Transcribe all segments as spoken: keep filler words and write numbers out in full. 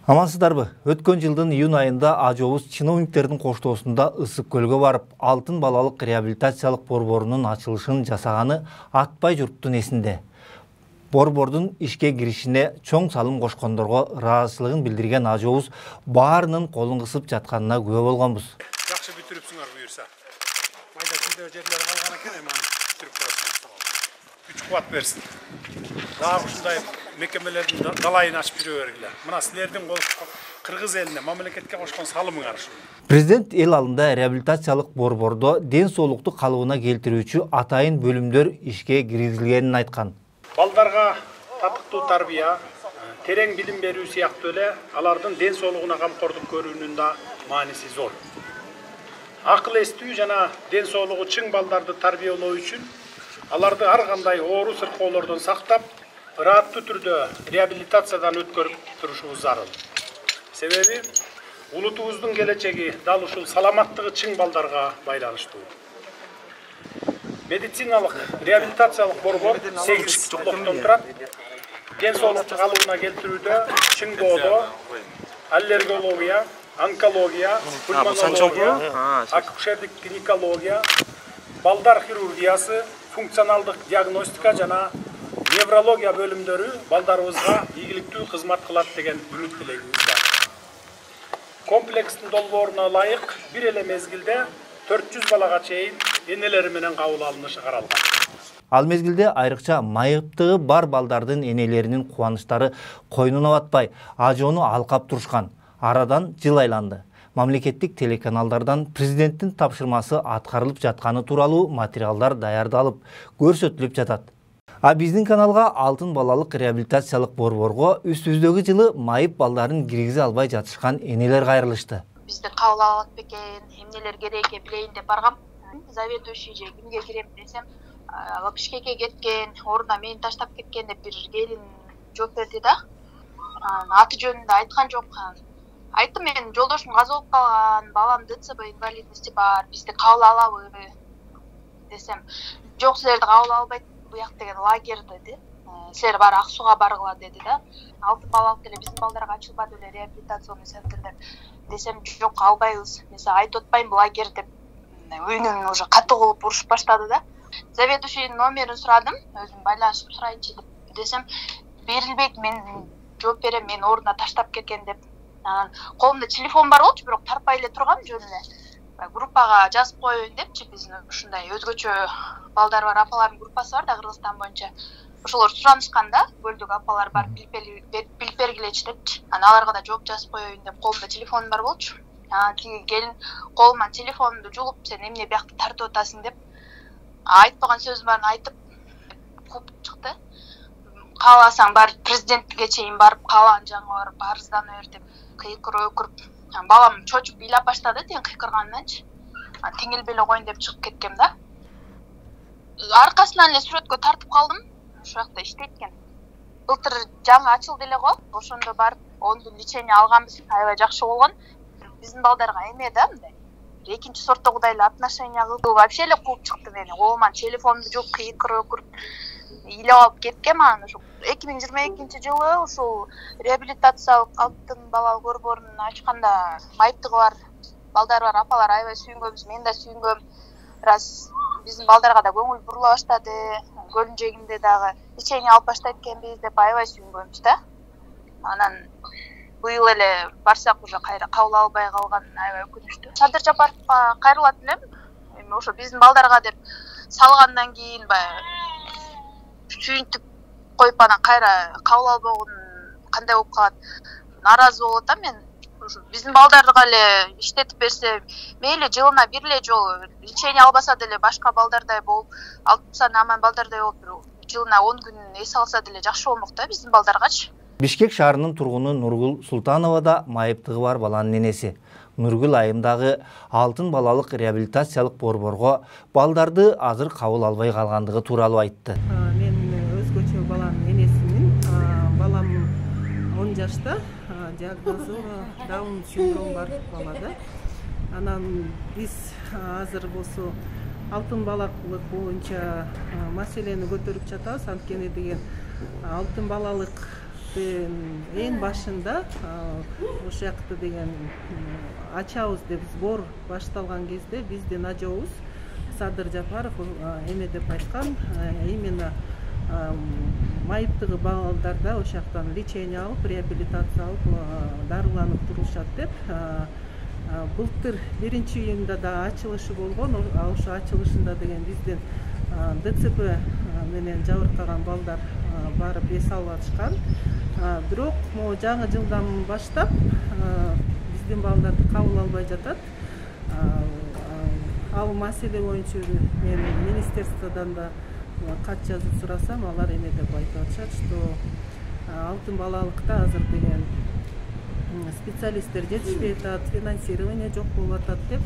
Амансыздарбы? Өткөн жылдын июнь айында ажообуз чиновниктердин коштоосунда Ысык көлгө барып, алтын балалык реабилитациялык борборунун ачылышын жасаганы атпай журттун эсинде. Борбордун ишке киришине чоң салым кошкондорго ыраазычылыгын билдирген ажообуз баарынын колун кысып жатканына күбө болгонбуз. Жакшы бүтүрүпсүңөр буюрса. Майда чүйдө жерлер калган экен, эми аны бүтүрүп коесуңар. Күч кубат берсин. Дагы ушундай мекемелердин далайын ачып жүрө бергиле. Мына силердин кол кыргыз элине, мамлекетке кошкон салымыңар ушул. Президент эл алдында реабилитациялык борбордо ден соолукту калыбына келтирүүчү атайын бөлүмдөр ишке киргизилгенин айткан. Балдарга татыктуу тарбия, терең билим берүү сыяктуу эле алардын ден соолугуна камкордук көрүүнүн да мааниси зор. Акыл эстүү жана ден соолугу чың балдарды тарбиялоо үчүн аларды ар кандай оору сыркоолордон сактап, ырааттуу түрдө реабилитациядан өткөрүп турушубуз зарыл. Себеби улутубуздун келечеги дал ушул саламаттыгы чың балдарга байланыштуу. Медициналык реабилитациялык борбор сегиз блоктон турат. Ден соолукту калыбына келтирүүдө чың боодо, аллергология, онкология, пульмонология, акушерлик гинекология, балдар хирургиясы, функционалдык диагностика жана неврология бөлүмдөрү балдарыбызга ийгиликтүү кызмат кылат деген үмүт тилегибиз бар. Комплекстин долбооруна ылайык бир эле мезгилде төрт жүз балага чейин энелери менен кабыл алынышы каралган. Ал мезгилде айрыкча майыптыгы бар балдардын энелеринин кубанычтары койнуна батпай, ажоону алкап турушкан. Арадан жыл айланды. Мамлекеттик телеканалдардан президенттин тапшырмасы аткарылып жатканы тууралуу материалдар даярдалып, көрсөтүлүп жатат. А биздин каналга алтын балалык реабилитациялык борборго үстүбүздөгү жылы майып балдарын киргизе албай жатышкан энелер кайрылышты. Бизди кабыл алат бекен, эмнелер керек экен билейин деп баргам. Заведующий же кимге кирем десем, Бишкекке кеткен, ордуна мени таштап кеткен деп бир келин жооп берди да. Аты жөнүндө айткан жок. Айттым, мен жолдошум каза болуп калган, балам ДЦП инвалидности бар, бизди кабыл алабы десем, жок, силерди кабыл албайт буяк деген лагерь деди. Силер баары Ак Сууга баргыла деди да. Алтын балалык деле биздин балдарга ачылбады эле реабилитационный центрдер десем, жок, албайбыз. Мен айтып атпайм лагерь деп. Үйүнөн уже катуу кылып урушуп баштады да. Заведующийдин номерин сурадым, өзүм байланышып сурайынчы деп десем, берилбейт, мен жооп берем, мени ордуна таштап кеткен деп. Анан колумда телефон бар болчу, бирок тарпай эле турган жөн эле. Группага жазып коеюн депчи, биздин ушундай өзгөчө балдар бар, апалардын группасы бар да Кыргызстан боюнча. Ошолор суранышкан да, көлдүк апалар бар, билип бергилечи депчи. Анан аларга да жооп жазып коеюн деп, колумда телефон бар болчу. Анан тиги келин колуман телефонумду жулуп, сен эмне биякты тартып атасың деп, айтпаган сөзүм барын айтып кууп чыкты. Кааласаң бар президентке чейин барып, каалаган жагыңа барып арыздана бер деп кыйкырып өкүрүп, балам чочуп ыйлап баштады тен кыйкырганданчы. Теңилбей эле коеюн деп чыгып кеткем да. Аркасынан эле сүрөткө тартып калдым. Ошол жакта иштейт экен. Былтыр жаңы ачылды эле го. Ошондо барып он күн лечение алганбыз. Аябай жакшы болгон. Биздин балдарга эме да мындай. Экинчи сорттогудай эле отношение кылып, вообще эле кууп чыкты мени. Колуман телефонду жуп, кыйкырып өкүрүп, ыйлап алып кеткем. Анан ошо эки миң жыйырма экинчи жылы ушул реабилитациялык алтын балалык борборун ачканда майыптыгы бар балдар бар, апалар аябай сүйүнгөнбүз, мен да сүйүнгөм. Раз биздин балдарга да көңүл бурула баштады, көлүн жээгинде дагы лечение алып баштайт экенбиз деп аябай сүйүнгөнбүз да. Анан быйыл эле барсак уже кайра кабыл албай калган аябай өкүнүчтүү. Садыр Жапаровго кайрылат элем. Эми ошо биздин балдарга деп салгандан кийин баягы сүйүнтүп коюп анан кайра кабыл албаган кандай болуп калат? Наразы болуп атам мен. Ошо биздин балдарга эле иштетип берсе, мейли жылына бир эле жолу лечение албаса деле башка балдардай болуп, алтымсан аман балдардай болуп, жылына он күн эс алса деле жакшы болмок да биздин балдаргачы. Бишкек шаарынын тургуну Нургул Султанова да майыптыгы бар баланын энеси. Нургул айымдагы алтын балалык реабилитациялык борборго балдарды азыр кабыл албай калгандыгы тууралуу айтты. Мен өзгөчө баланын энесимин. Балам он жашта, диагнозу Даун синдрому бар бала да. Анан биз азыр болсо алтын балалык боюнча маселени көтөрүп жатабыз. Анткени деген алтын балалык июльдын эң башында ошол жакта деген ачабыз деп сбор башталган кезде биздин ажообуз Садыр Жапаров эме деп айткан, именно майыптыгы балдарда ошол жактан лечение алып, реабилитация алып, дарыланып турушат деп. Былтыр биринчи июнда да ачылышы болгон, ошо ачылышында деген биздин ДЦП менен жабыркаган балдар барып эс алып атышкан. Бирок могу жаңы жылдан баштап биздин балдарды кабыл албай жатат. Ал маселе боюнча мен министерстводон да кат жазып сурасам, алар эме деп айтып атышат, что алтын балалыкта азыр деген специалисттер жетишпей атат, финансирование жок болуп атат деп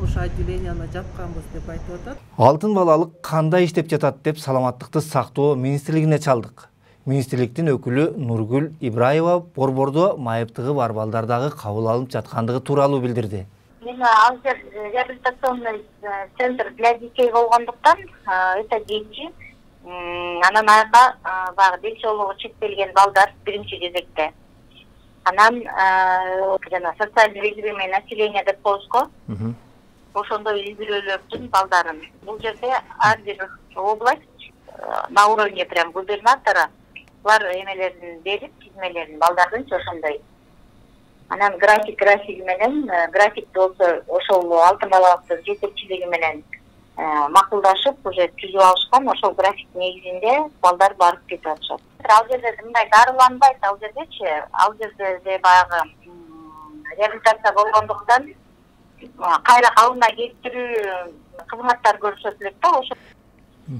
ошо отделенияны жапканбыз деп айтып атат. Алтын балалык кандай иштеп жатат деп Саламаттыкты сактоо министрлигине чалдык. Министрликтин өкүлү Нургүл Ибраева борбордо майыптыгы бар балдардагы кабыл алынып жаткандыгы тууралуу билдирди. Мен азыр реабилитационный центр для детей болгондуктан это дети, анан ага баягы ден соолугу чектелген балдар биринчи кезекте. Анан жана социальный режимный население деп коебузго. Ошондой үй бүлөлөрдүн балдарын. Бул жерде ар бир область на уровне прям губернатора булар эмелерин берип, тизмелерин балдардын ошондой. Анан график графиги менен, графикти болсо ошол алтын балалыктын жетекчилиги менен макулдашып, уже түзүп алышкан, ошол график негизинде балдар барып кетип атышат. Ал жерде мындай дарыланбайт, ал жердечи, ал жерде баягы реабилитация болгондуктан кайра калыбына келтирүү кызматтар көрсөтүлөт да ошо.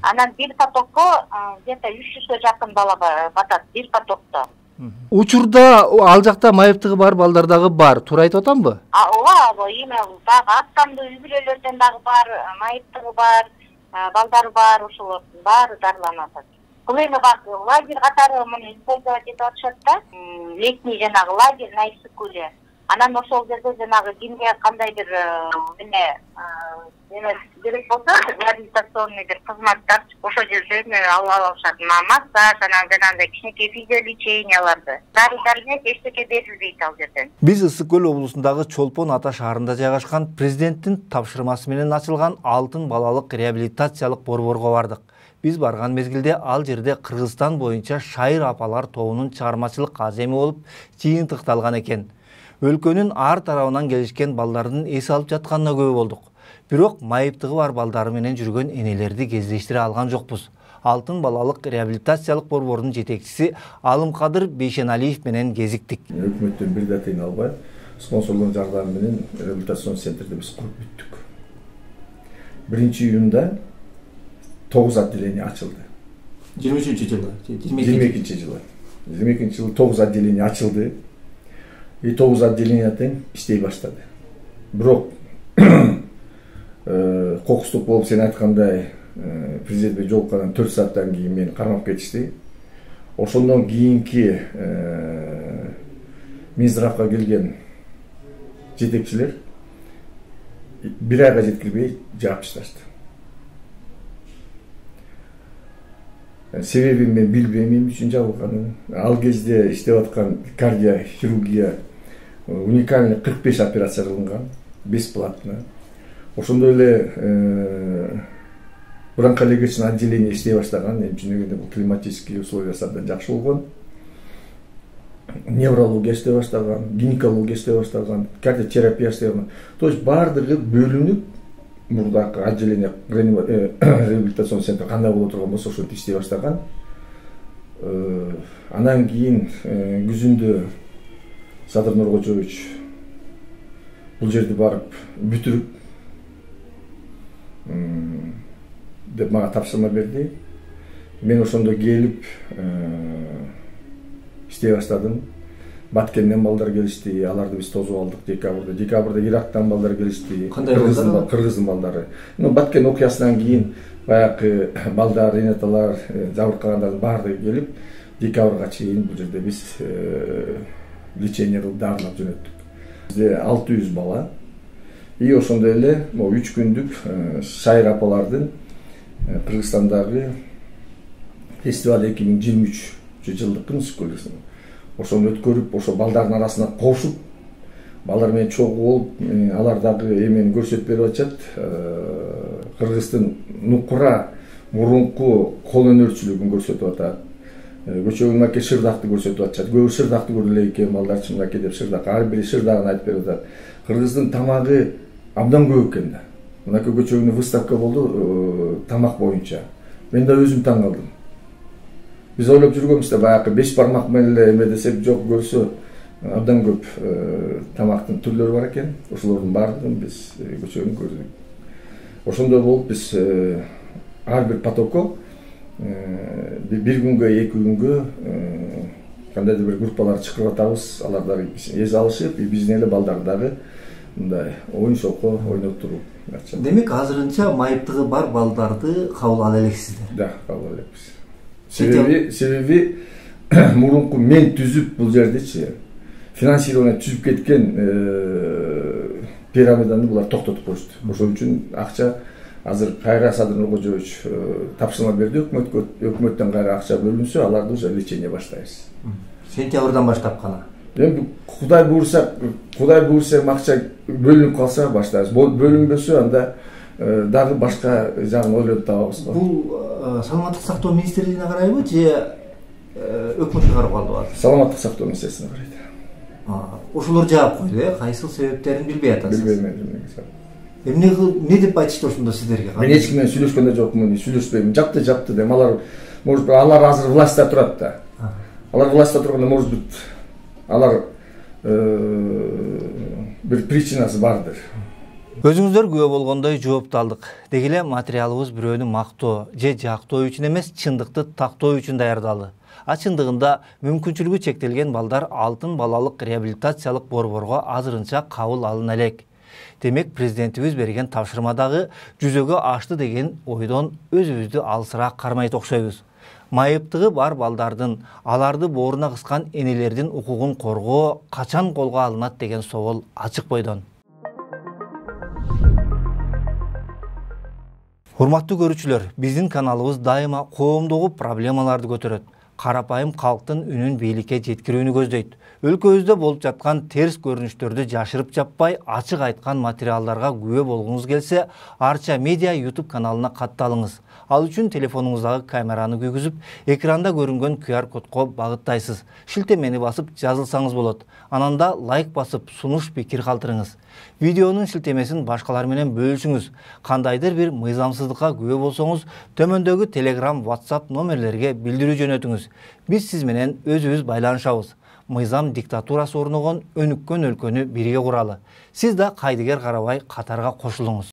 Анан бир потокко где-то үч жүзгө жакын бала батат, бир потокто. Учурда ал жакта майыптыгы бар балдардагы бар, туура айтып атамбы? Ооба, эме дагы аттандуу үй бүлөлөрдөн дагы бар, майыптыгы бар, балдары бар, ошолордун баары дарыланып атат. Бул эми бак лагерь катары муну использовать этип атышат да, летний жанагы лагерь на Иссык-Куле. Анан ошол жерде жанагы кимге кандай бир эме эме керек болсо, реабилитационный бир кызматтар ошол жерден ала алышат. Массаж, анан жанагындай кичинекей физиолеченияларды. Дары-дармек эчтеке берилбейт ал жерден. Биз Ысык-Көл облусундагы Чолпон Ата шаарында жайгашкан президенттин тапшырмасы менен ачылган алтын балалык реабилитациялык борборго бардык. Биз барган мезгилде ал жерде Кыргызстан боюнча шайыр апалар тобунун чыгармачылык аземи болуп жыйынтыкталган экен. Өлкөнүн ар тарабынан келишкен балдардын эс алып жатканына күбө болдук. Бирок майыптыгы бар балдары менен жүргөн энелерди кездештире алган жокпуз. Алтын балалык реабилитациялык борбордун жетекчиси Алымкадыр Бейшеналиев менен кезиктик. Өкмөттөн бир да тыйын албай, спонсорлордун жардамы менен реабилитацион центрди биз куруп бүттүк. биринчи июнда тогуз отделение ачылды. жыйырма үчүнчү жылы, жыйырма экинчи жылы. жыйырма экинчи жылы тогуз отделение ачылды. И тогуз отделение тең иштей баштады. Бирок кокустук болуп сен айткандай президентке жолуккандан төрт сааттан кийин мени кармап кетишти. Ошондон кийинки Минздравга келген жетекчилер бир айга жеткирбей жаап ташташты. Себебин мен билбейм эмне үчүн жабылганын. Ал кезде иштеп аткан кардиохирургия уникальный кырк беш операция кылынган, бесплатно. Ошондой эле бронхолегичный отделение иштей баштаган, эми чынында бул климатический условия абдан жакшы болгон. Неврология иштей баштаган, гинекология иштей баштаган, кардиотерапия иштей баштаган. То есть баардыгы бөлүнүп, мурдакы отделение реабилитацион центр кандай боло турган болсо ошентип иштей баштаган. Анан кийин күзүндө Садыр Нуркожоевич бул жерди барып бүтүрүп деп мага тапшырма берди. Мен ошондо келип иштей баштадым. Баткенден балдар келишти, аларды биз тосуп алдык декабрда. Декабрда Ирактан балдар келишти. Кыргыздын балдары. Ну Баткен окуясынан кийин баягы балдар, энеталар, жабыркагандардын баардыгы келип, декабрга чейин бул жерде биз лечение кылып дарылап жөнөттүк. Бизде алты жүз бала. И ошондой эле могу үч күндүк шайыр апалардын Кыргызстандагы фестиваль эки миң жыйырма үч жылдыктын ошону өткөрүп, ошо балдардын арасына кошуп, балдар менен чогуу болуп, алар дагы эмени көрсөтүп берип атышат. Кыргыздын нукура мурунку кол өнөрчүлүгүн көрсөтүп атат. Көчөгүн маке шырдакты көрсөтүп атышат. Көбү шырдакты көрүп эле экен, балдар чындаке деп шырдак, ар бири шырдагын айтып берип атат. Кыргыздын тамагы абдан көп экен да. Мынакей көчөгүнө выставка болду тамак боюнча. Мен да өзүм таң калдым. Биз ойлоп жүргөнбүз да баягы беш бармак менен эле эме десек, жок, көрсө абдан көп тамактын түрлөрү бар экен. Ошолордун баардыгын биз көчөгүн көрдүк. Ошондой болуп биз ар бир потокко бир күнгө, эки күнгө кандайдыр бир группалар чакырып атабыз. Алар дагы эс алышып, биздин эле балдар дагы мындай оюн шоко ойноп туруп. Демек, азырынча майыптыгы бар балдарды кабыл ала элексиздер. Да, кабыл элекпиз. Себеби, себеби мурунку мен түзүп бул жердечи финансирование түзүп кеткен пирамиданы булар токтотуп коюшту. Ошол үчүн акча азыр кайра Садыр Нуркожоевич тапшырма берди өкмөткө, өкмөттөн кайра акча бөлүнсө, аларды уже лечение баштайбыз. Сентябрдан баштап кана. Эми Кудай буйрса, Кудай буйрса акча бөлүнүп калса баштайбыз. Бөлүнбөсө анда дагы башка жагын ойлонуп табабыз. Бул саламаттык сактоо министрлигине карайбы же өкмөткө карап калдыбы? Саламаттык сактоо министрлигине карайт. Ошолор жаап койду, э, кайсыл себептерин билбей атасыз. Билбейм. Эмне эмне деп айтышты ошондо сиздерге? Мен эч ким менен сүйлөшкөн да жокмун, сүйлөшпөйм. Жапты, жапты деп. Алар, может, алар азыр властьта турат да. Алар властьта турганда, может быть, алар бир причинасы бардыр. Өзүңүздөр күбө болгондой жоопту алдык. Деги эле материалыбыз бирөөнү мактоо же жактоо үчүн эмес, чындыкты тактоо үчүн даярдалды. А чындыгында мүмкүнчүлүгү чектелген балдар алтын балалык реабилитациялык борборго азырынча кабыл алына элек. Демек, президентибиз берген тапшырмадагы жүзөгө ашты деген ойдон өзүбүздү алысыраак кармайт окшойбуз. Майыптыгы бар балдардын, аларды бооруна кыскан энелердин укугун коргоо качан колго алынат деген соол ачык бойдон. Урматтуу көрүүчүлөр, биздин каналыбыз дайыма коомдогу проблемаларды көтөрөт. Карапайым калктын үнүн бийликке жеткирүүнү көздөйт. Өлкөбүздө болуп жаткан терс көрүнүштөрдү жашырып жаппай, ачык айткан материалдарга күбө болгуңуз келсе, Арча Медиа YouTube каналына катталыңыз. Ал үчүн телефонуңуздагы камераны күйгүзүп, экранда көрүнгөн ку ар кодко багыттайсыз. Шилтемени басып жазылсаңыз болот. Ананда лайк басып, сунуш пикир калтырыңыз. Видеонун шилтемесин башкалар менен бөлүшүңүз. Кандайдыр бир мыйзамсыздыкка күбө болсоңуз, төмөндөгү Telegram, WhatsApp номерлерге билдирүү жөнөтүңүз. Биз сиз менен өзүбүз байланышабыз. Мыйзам диктатурасы орногон өнүккөн өлкөнү бирге куралы. Сиз да кайдыгер карабай катарга кошулуңуз.